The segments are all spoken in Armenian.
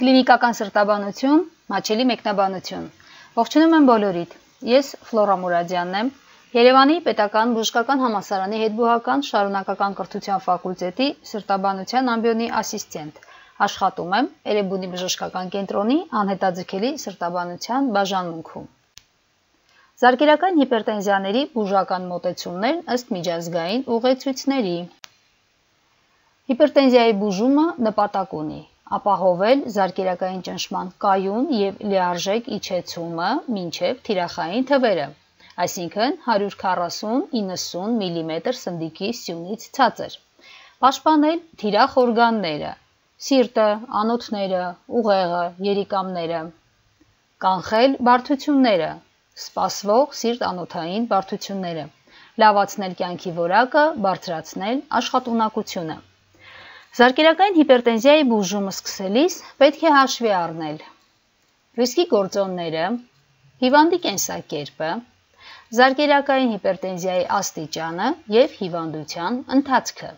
Կլինիկական սրտաբանություն, մաչելի մեկնաբանություն։ Ողջունում եմ բոլորիդ։ Ես Ֆլորա Մուրադյանն եմ, Երևանի Պետական Բժշկական համալսարանի հետբուհական շարունակական կրթության ֆակուլտետի սրտաբանության ամբիոնի ասիստենտ։ Աշխատում եմ Էրեբունի բժշկական կենտրոնի անհետաձգելի սրտաբանության բաժանմունքում։ Զարկերակային հիպերտենզիաների բուժական մոտեցումներ ըստ միջազգային ուղեցույցների։ Հիպերտենզիայի բուժումը նպատակ ունի ապահովել զարկերակային ճնշման կայուն և լիարժեք իջեցումը մինչև թիրախային թվերը, այսինքն 140-90 մմ սնդիկի սյունից ցածր, պաշտպանել թիրախ օրգանները, սիրտը, անոթները, ուղեղը, երիկամները, կանխել բարդությունները, սպասվող սիրտ-անոթային բարդությունները, լավացնել կյանքի որակը, բարձրացնել աշխատունակությունը։ Զարկերակային հիպերտենզիայի բուժումը սկսելիս պետք է հաշվի առնել ռիսկի գործոնները, հիվանդի կենսակերպը, զարկերակային հիպերտենզիայի աստիճանը և հիվանդության ընթացքը։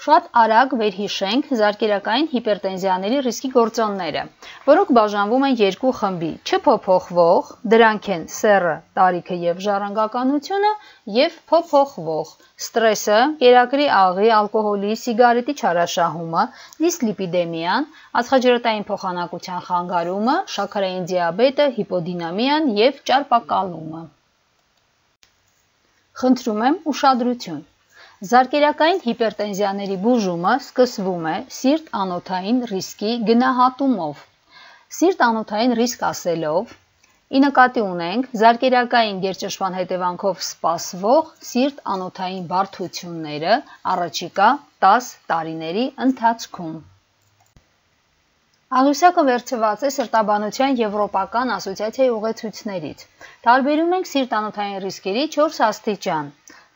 Շատ արագ վերհիշենք զարկերակային հիպերտենզիաների ռիսկի գործոնները, որոնք բաժանվում են երկու խմբի՝ չփոփոխվող, դրանք են սեռը, տարիքը և ժառանգականությունը, և փոփոխվող՝ ստրեսը, կերակրի աղի, ալկոհոլի, սիգարետի չարաշահումը, դիսլիպիդեմիան, ածխաջրատային փոխանակության խանգարումը, շաքարային դիաբետը, հիպոդինամիան և ճարպակալումը։ Խնդրում եմ ուշադրություն։ Զարկերակային հիպերտենզիաների բուժումը սկսվում է սիրտ-անոթային ռիսկի գնահատումով։ Սիրտ-անոթային ռիսկ ասելով ի նկատի ունենք զարկերակային գերճնշման հետևանքով սպասվող սիրտ-անոթային բարդությունները առաջիկա 10 տարիների ընթացքում։ Աղյուսակը վերցված է սրտաբանության եվրոպական ասոցիացիայի ուղեցույցներից։ Տարբերում ենք սիրտ-անոթային ռիսկերի 4 աստիճան՝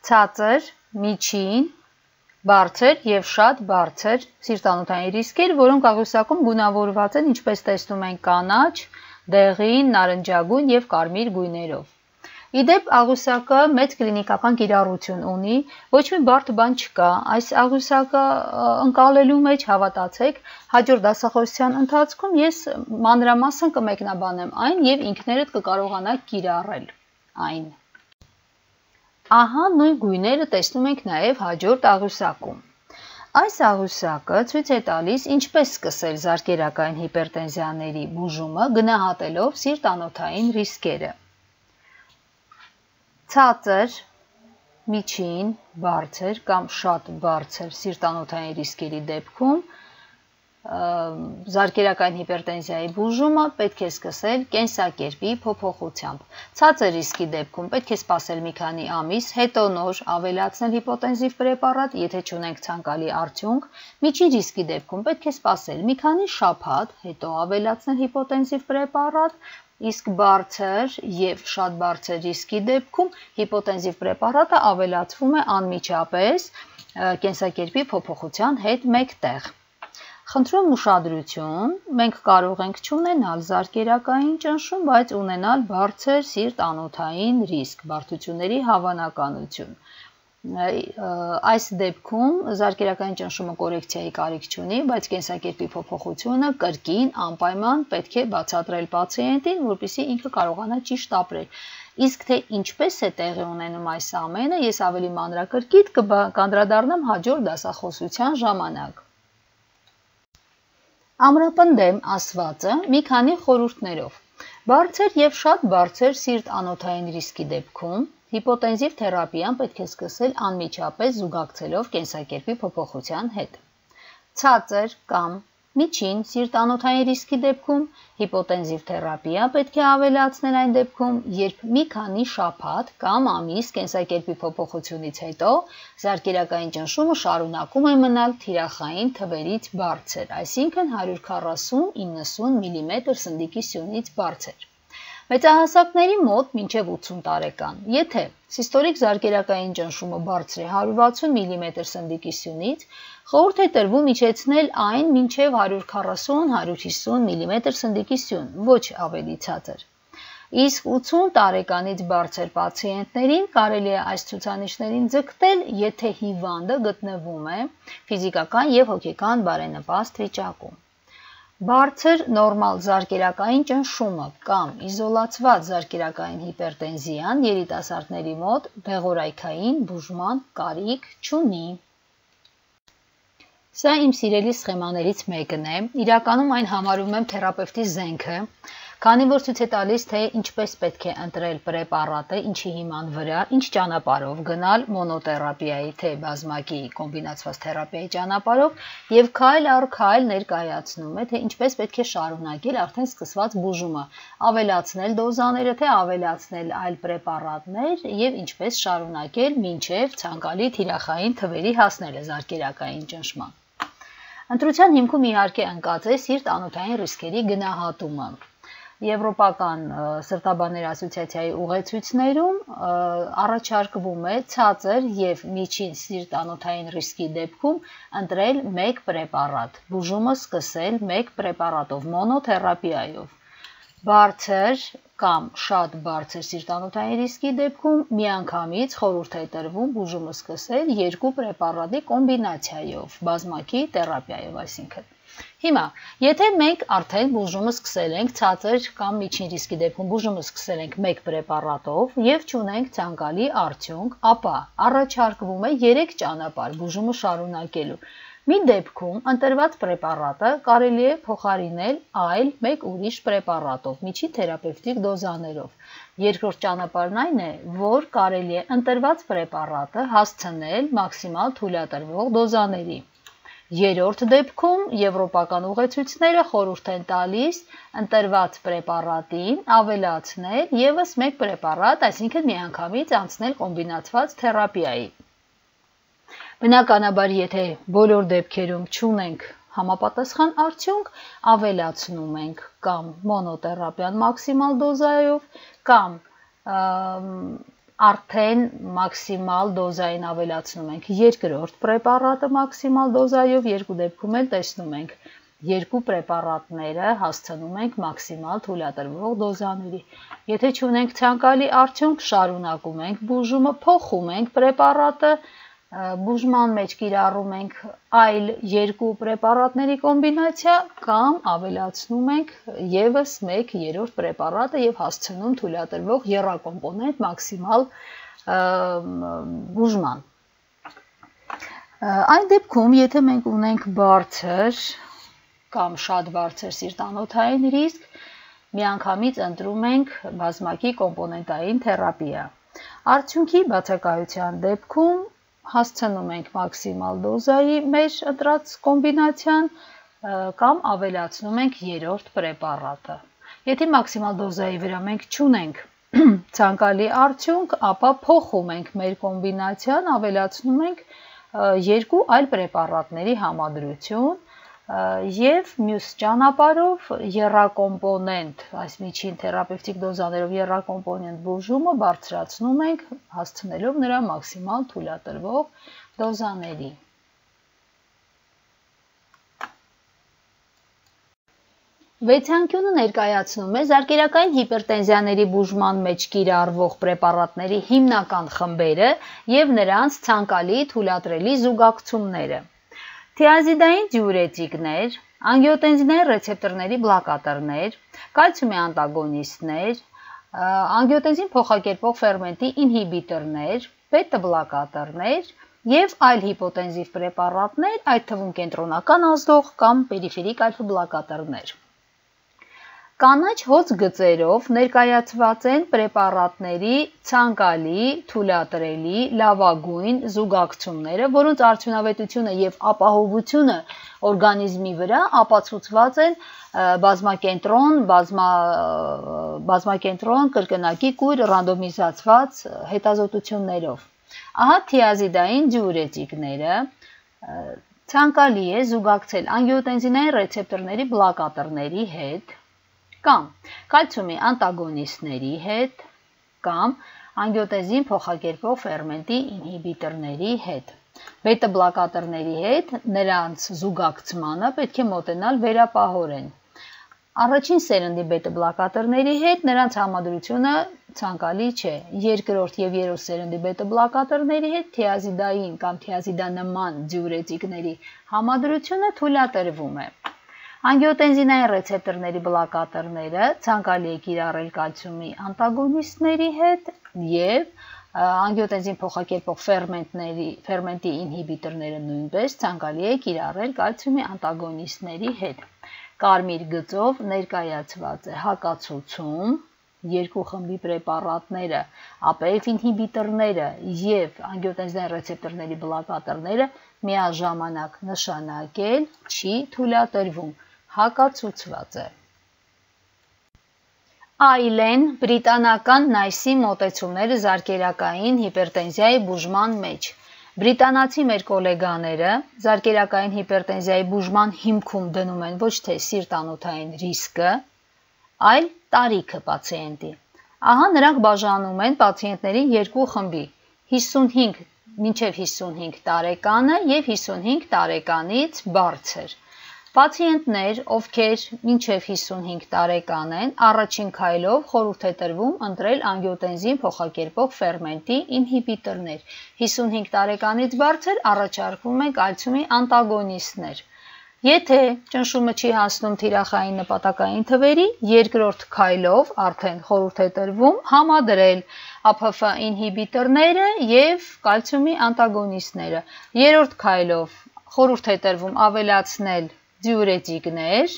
ցածր, միջին, բարձր և շատ բարձր սիրտ-անոթային ռիսկեր, որոնք աղյուսակում գունավորված են, ինչպես տեսնում ենք, կանաչ, դեղին, նարնջագույն և կարմիր գույներով։ Իդեպ աղյուսակը մեծ կլինիկական կիրառություն ունի, ոչ մի բարդ բան չկա, այս աղյուսակը ընկալելու մեջ հավատացեք, հաջորդ դասախոսության ընթացքում ես մանրամասն կմեկնաբանեմ այն և ինքներդ կկարողանաք կիրառել այն։ Ահա նույն գույները տեսնում ենք նաև հաջորդ աղյուսակում։ Այս աղյուսակը ցույց է տալիս ինչպես սկսել զարկերակային հիպերտենզիաների բուժումը գնահատելով սիրտ-անոթային ռիսկերը։ Ցածր, միջին, բարձր կամ շատ բարձր սիրտ-անոթային ռիսկերի դեպքում զարկերակային հիպերտենզիայի բուժումը պետք է սկսել կենսակերպի փոփոխությամբ։ Ցածր ռիսկի դեպքում պետք է սպասել մի քանի ամիս, հետո նոր ավելացնել հիպոտենզիվ պրեպարատ, եթե չունենք ցանկալի արդյունք։ Միջին ռիսկի դեպքում պետք է սպասել մի քանի շաբաթ, հետո ավելացնել հիպոտենզիվ պրեպարատ, իսկ բարձր և շատ բարձր ռիսկի դեպքում հիպոտենզիվ պրեպարատը ավելացվում է անմիջապես կենսակերպի փոփոխության հետ մեկտեղ։ Խնդրում ուշադրություն, մենք կարող ենք չունենալ զարկերակային ճնշում, բայց ունենալ բարձր սիրտ-անոթային ռիսկ, բարդությունների հավանականություն։ Այս դեպքում զարկերակային ճնշումը կորեկցիայի կարիք չունի, բայց կենսակերպի փոփոխությունը կրկին անպայման պետք է բացատրել պացիենտին, որպեսզի ինքը կարողանա ճիշտ ապրել։ Իսկ թե ինչպես է տեղի ունենում այս ամենը, ես ավելի մանրակրկիտ կանդրադառնամ հաջորդ դասախոսության ժամանակ։ Ամրապնդեմ ասվածը մի քանի խորհուրդներով։ Բարձր և շատ բարձր սիրտ-անոթային ռիսկի դեպքում հիպոտենզիվ թերապիան պետք է սկսել անմիջապես զուգակցելով կենսակերպի փոփոխության հետ։ Ցածր կամ միջին սիրտ-անոթային ռիսկի դեպքում հիպոտենզիվ թերապիա պետք է ավելացնել այն դեպքում, երբ մի քանի շաբաթ կամ ամիս կենսակերպի փոփոխությունից հետո զարկերակային ճնշումը շարունակում է մնալ թիրախային թվերից բարձր, այսինքն 140-90 մմ սնդիկի սյունից բարձր։ Մեծահասակների մոտ մինչև 80 տարեկան, եթե սիստոլիկ զարկերակային ճնշումը բարձր է 160 մմ սնդիկի սյունից, խորհուրդ է տրվում իջեցնել այն մինչև 140-150 մմ սնդիկի սյուն, ոչ ավելի ցածր։ Իսկ 80 տարեկանից բարձր պացիենտներին կարելի է այս ցուցանիշներին ձգտել, եթե հիվանդը գտնվում է ֆիզիկական և հոգեկան բարենպաստ վիճակում։ Բարձր նորմալ զարկերակային ճնշումը կամ իզոլացված զարկերակային հիպերտենզիան երիտասարդների մոտ դեղորայքային բուժման կարիք չունի։ Սա իմ սիրելի սխեմաներից մեկն է, իրականում այն համարում եմ թերապևտի զենքը, քանի որ ցույց է տալիս, թե ինչպես պետք է ընտրել պրեպարատը, ինչի հիման վրա, ինչ ճանապարհով գնալ մոնոթերապիայի, թե բազմակի կոմբինացված թերապիայի ճանապարհով եւ քայլ առ քայլ ներկայացնում է, թե ինչպես պետք է շարունակել արդեն սկսված բուժումը, ավելացնել դոզաները, թե ավելացնել այլ պրեպարատներ եւ ինչպես շարունակել մինչեւ ցանկալի թիրախային թվերի հասնելը զարկերակային ճնշման։ Ընտրության հիմքում իհարկե ընկած է սիրտ-անոթային ռիսկերի գնահատումը։ Եվրոպական սրտաբանների ասոցիացիայի ուղեցույցներում առաջարկվում է ցածր եւ միջին սիրտ-անոթային ռիսկի դեպքում ընտրել մեկ պրեպարատ, բուժումը սկսել մեկ պրեպարատով, մոնոթերապիայով։ Բարձր կամ շատ բարձր սիրտ-անոթային ռիսկի դեպքում միանգամից խորհուրդ է տրվում բուժումը սկսել երկու պրեպարատի կոմբինացիայով, բազմակի թերապիայով, այսինքն։ Հիմա, եթե մենք արդեն բուժումը սկսել ենք ցածր կամ միջին ռիսկի դեպքում բուժումը սկսել ենք մեկ պրեպարատով եւ չունենք ցանկալի արդյունք, ապա առաջարկվում է 3 ճանապարհ բուժումը շարունակելու։ Մի դեպքում ընտրված պրեպարատը կարելի է փոխարինել այլ մեկ ուրիշ պրեպարատով, միջին թերապևտիկ դոզաներով։ Երկրորդ ճանապարհն այն է, որ կարելի է ընտրված պրեպարատը հասցնել մաքսիմալ թույլատրվող դոզաների։ Երրորդ դեպքում եվրոպական ուղեցույցները խորհուրդ են տալիս ընտրված պրեպարատին ավելացնել եւս մեկ պրեպարատ, այսինքն միանգամից անցնել կոմբինացված թերապիայի։ Բնականաբար, եթե բոլոր դեպքերում չունենք համապատասխան արդյունք, ավելացնում ենք կամ մոնոթերապիան մաքսիմալ դոզայով, կամ արդեն մաքսիմալ դոզային ավելացնում ենք երկրորդ պրեպարատը մաքսիմալ դոզայով, երկու դեպքում էլ տեսնում ենք երկու պրեպարատները հասցնում ենք մաքսիմալ թույլատրվող դոզաների։ Եթե չունենք ցանկալի արդյունք, շարունակում ենք բուժումը, փոխում ենք պրեպարատը, բուժման մեջ կիրառում ենք այլ երկու պրեպարատների կոմբինացիա կամ ավելացնում ենք եւս մեկ երրորդ պրեպարատը եւ հասցնում թույլատրվող եռակոմպոնենտ մաքսիմալ բուժման։ Այն դեպքում, եթե մենք ունենք բարձր կամ շատ բարձր սիրտ-անոթային ռիսկ, միանգամից ընտրում ենք բազմակի կոմպոնենտային թերապիա։ Արդյունքի բացակայության դեպքում հասցնում ենք մաքսիմալ դոզայի մեր ընտրած կոմբինացիան կամ ավելացնում ենք երրորդ պրեպարատը։ Եթե մաքսիմալ դոզայի վրա մենք չունենք ցանկալի արդյունք, ապա փոխում ենք մեր կոմբինացիան, ավելացնում ենք երկու այլ պրեպարատների համադրություն եւ մյուս ճանապարհով եռակոմպոնենտ, այս միջին թերապևտիկ դոզաներով եռակոմպոնենտ բուժումը բարձրացնում ենք, հասցնելով նրա մաքսիմալ թույլատրվող դոզաների։ Վեցանկյունը ներկայացնում է զարկերակային հիպերտենզիաների բուժման մեջ կիրառվող պրեպարատների հիմնական խմբերը եւ նրանց ցանկալի թույլատրելի զուգակցումները։ Թիազիդային դիուրետիկներ, անգիոտենզինային ռեցեպտորների բլոկատորներ, կալցիումի անտագոնիստներ, անգիոտենզին փոխակերպող ֆերմենտի ինհիբիտորներ, բետա բլոկատորներ եւ այլ հիպոտենզիվ պրեպարատներ, այդ թվում կենտրոնական ազդող կամ պերիֆերիկ ալֆա բլոկատորներ։ Կանաչ հոծ գծերով ներկայացված են պրեպարատների ցանկալի, թույլատրելի, լավագույն զուգակցումները, որոնց արդյունավետությունը եւ ապահովությունը օրգանիզմի վրա ապացուցված են բազմակենտրոն կրկնակի կույր ռանդոմիզացված հետազոտություններով։ Ահա թիազիդային դիուրետիկները ցանկալի է զուգակցել անգիոտենզինային ռեցեպտորների բլոկատորների հետ կամ կալցիումի անտագոնիստների հետ կամ անգիոտենզին փոխակերպող ֆերմենտի ինհիբիտորների հետ։ Բետա բլոկատորների հետ նրանց զուգակցմանը պետք է մոտենալ վերապահորեն։ Առաջին սերնդի բետա բլոկատորների հետ նրանց համադրությունը ցանկալի չէ։ Երկրորդ եւ երրորդ սերնդի բետա բլոկատորների հետ թիազիդային կամ թիազիդանման դիուրետիկների համադրությունը թույլատրվում է։ Անգիոտենզինային ռեցեպտորների բլոկատորները ցանկալի է կիրառել կալցիումի անտագոնիստների հետ եւ անգիոտենզին փոխակերպող ֆերմենտի ինհիբիտորները նույնպես ցանկալի է կիրառել կալցիումի անտագոնիստների հետ։ Կարմիր գծով ներկայացված է հակացուցում երկու խմբի պրեպարատները, APF ինհիբիտորները եւ անգիոտենզինային ռեցեպտորների բլոկատորները միաժամանակ նշանակել չի թույլատրվում, հակացուցված է։ Այլեն բրիտանական NICE-ի մոտեցումները զարկերակային հիպերտենզիայի բուժման մեջ։ Բրիտանացի մեր գոլեգաները զարկերակային հիպերտենզիայի բուժման հիմքում դնում են ոչ թե սիրտանոթային ռիսկը, այլ տարիքը պացիենտի։ Ահա նրանք բաժանում են պացիենտներին երկու խմբի՝ 55 մինչև 55 տարեկանը եւ 55 տարեկանից բարձր։ Պացիենտներ, ովքեր մինչև 55 տարեկան են, առաջին քայլով խորհուրդ է տրվում ընտրել անգիոտենզին փոխակերպող ֆերմենտի ինհիբիտորներ։ 55 տարեկանից բարձր առաջարկվում են կալցիումի անտագոնիստներ։ Եթե ճնշումը չի հասնում թիրախային նպատակային թվերի, երկրորդ քայլով արդեն խորհուրդ է տրվում համադրել APF ինհիբիտորները եւ կալցիումի անտագոնիստները։ Երրորդ քայլով խորհուրդ է տրվում ավելացնել դիուրետիկներ,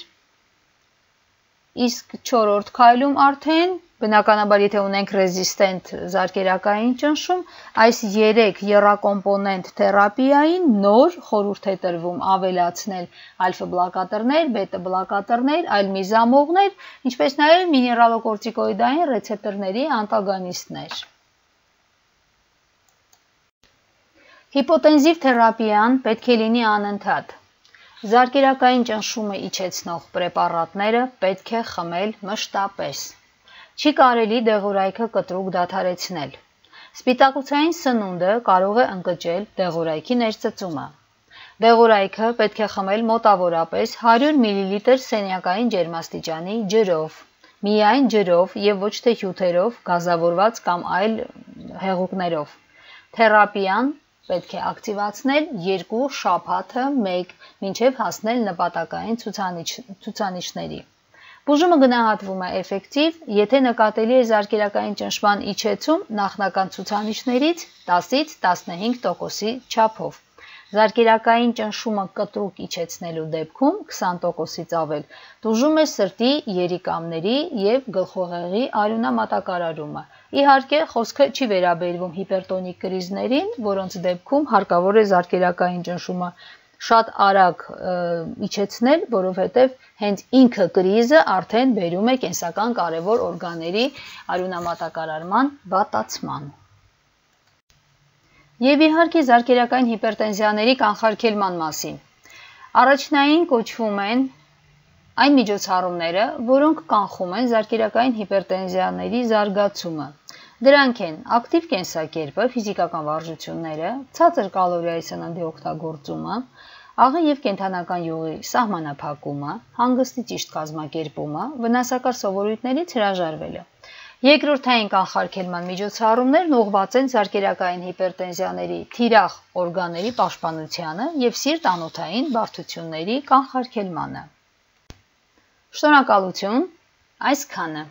իսկ չորրորդ քայլում արդեն բնականաբար եթե ունենք ռեզիստենտ զարկերակային ճնշում, այս 3 եռակոմպոնենտ թերապիային նոր խորհուրդ է տրվում ավելացնել ալֆա բլոկատորներ, բետա բլոկատորներ, այլ միզամողներ, ինչպես նաև միներալոկորտիկոիդային ռեցեպտորների անտագոնիստներ։ Հիպոտենզիվ թերապիան պետք է լինի անընդհատ։ Զարկերակային ճնշումը իջեցնող պրեպարատները պետք է խմել մշտապես։ Չի կարելի դեղորայքը կտրուկ դադարեցնել։ Սպիտակուցային սնունդը կարող է ընկճել դեղորայքի ներծծումը։ Դեղորայքը պետք է խմել մոտավորապես 100 մլ սենյակային ջերմաստիճանի ջրով, միայն ջրով եւ ոչ թե հյութերով, գազավորված կամ այլ հեղուկներով։ Թերապիան պետք է ակտիվացնել 2 շաբաթը 1 մինչև հասնել նպատակային ցուցանիշների։ Բուժումը գնահատվում է էֆեկտիվ, եթե նկատելի է զարկերակային ճնշման իջեցում նախնական ցուցանիշներից 10-ից 15%-ի չափով։ Զարկերակային ճնշումը կտրուկ իջեցնելու դեպքում 20%-ից ավել տուժում է սրտի, երիկամների եւ գլխուղեղի արյունամատակարարումը։ Իհարկե, խոսքը չի վերաբերվում հիպերտոնիկ կրիզներին, որոնց դեպքում հարկավոր է զարկերակային ճնշումը շատ արագ իջեցնել, որովհետև հենց ինքը կրիզը արդեն բերում է կենսական կարևոր օրգանների արյունամատակարարման վատացման։ Եվ իհարկե զարկերակային հիպերտենզիաների կանխարգելման մասին։ Առաջնային կոչվում են այն միջոցառումները, որոնք կանխում են զարկերակային հիպերտենզիաների զարգացումը։ Դրանք են ակտիվ կենսակերպը, ֆիզիկական վարժությունները, ցածր կալորիայի սննդի օգտագործումը, աղի եւ կենդանական յուղի սահմանափակումը, հանգստի ճիշտ կազմակերպումը, վնասակար սովորույթներից հրաժարվելը։ Երկրորդային կանխարգելման միջոցառումներն ուղղված են զարկերակային հիպերտենզիաների թիրախ օրգանների պաշտպանությանը եւ սիրտ-անոթային բարդությունների կանխարգելմանը։ Շնորհակալություն, այսքանը։